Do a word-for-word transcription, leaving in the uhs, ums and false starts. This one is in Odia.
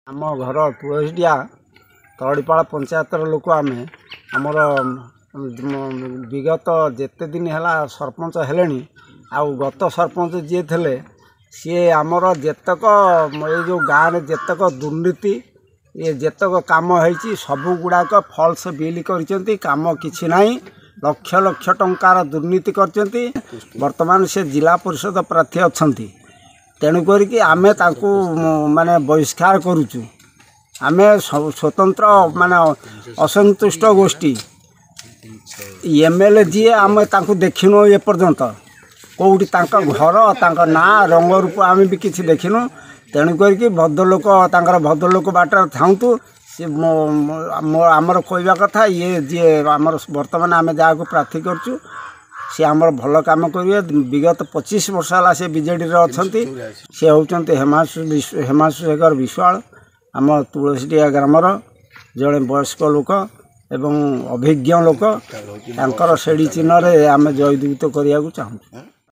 ଆମ ଘର ତୁଳସୀଡିଆ ତରଡ଼ିପାଳ ପଞ୍ଚାୟତର ଲୋକ ଆମେ। ଆମର ବିଗତ ଯେତେ ଦିନ ହେଲା ସରପଞ୍ଚ ହେଲେଣି, ଆଉ ଗତ ସରପଞ୍ଚ ଯିଏ ଥିଲେ, ସିଏ ଆମର ଯେତେକ ଏଇ ଯେଉଁ ଗାଁରେ ଯେତେକ ଦୁର୍ନୀତି, ଇଏ ଯେତେକ କାମ ହେଇଛି, ସବୁଗୁଡ଼ାକ ଫଲ୍ସ ବିଲ୍ କରିଛନ୍ତି। କାମ କିଛି ନାହିଁ, ଲକ୍ଷ ଲକ୍ଷ ଟଙ୍କାର ଦୁର୍ନୀତି କରିଛନ୍ତି। ବର୍ତ୍ତମାନ ସେ ଜିଲ୍ଲା ପରିଷଦ ପ୍ରାର୍ଥୀ ଅଛନ୍ତି, ତେଣୁ କରିକି ଆମେ ତାଙ୍କୁ ମାନେ ବହିଷ୍କାର କରୁଛୁ। ଆମେ ସ୍ୱତନ୍ତ୍ର ମାନେ ଅସନ୍ତୁଷ୍ଟ ଗୋଷ୍ଠୀ। ଏମ୍ ଏଲ୍ ଏ ଯିଏ, ଆମେ ତାଙ୍କୁ ଦେଖିନୁ ଏପର୍ଯ୍ୟନ୍ତ କେଉଁଠି, ତାଙ୍କ ଘର, ତାଙ୍କ ନାଁ, ରଙ୍ଗ ରୂପ ଆମେ ବି କିଛି ଦେଖିନୁ। ତେଣୁ କରିକି ଭଦ୍ରଲୋକ ତାଙ୍କର ଭଦ୍ରଲୋକ ବାଟରେ ଥାଆନ୍ତୁ। ସେ ଆମର କହିବା କଥା, ଇଏ ଯିଏ ଆମର ବର୍ତ୍ତମାନ ଆମେ ଯାହାକୁ ପ୍ରାର୍ଥୀ କରୁଛୁ, ସିଏ ଆମର ଭଲ କାମ କରିବେ। ବିଗତ ପଚିଶ ବର୍ଷ ହେଲା ସେ ବିଜେଡ଼ିରେ ଅଛନ୍ତି। ସେ ହେଉଛନ୍ତି ହେମାଂଶୁ ହେମାଂଶୁ ଶେଖର ବିଶ୍ୱାଳ, ଆମ ତୁଳସୀଟିଆ ଗ୍ରାମର ଜଣେ ବୟସ୍କ ଲୋକ ଏବଂ ଅଭିଜ୍ଞ ଲୋକ। ତାଙ୍କର ସେଡ଼ି ଚିହ୍ନରେ ଆମେ ଜୟଯୁକ୍ତ କରିବାକୁ ଚାହୁଁଛୁ।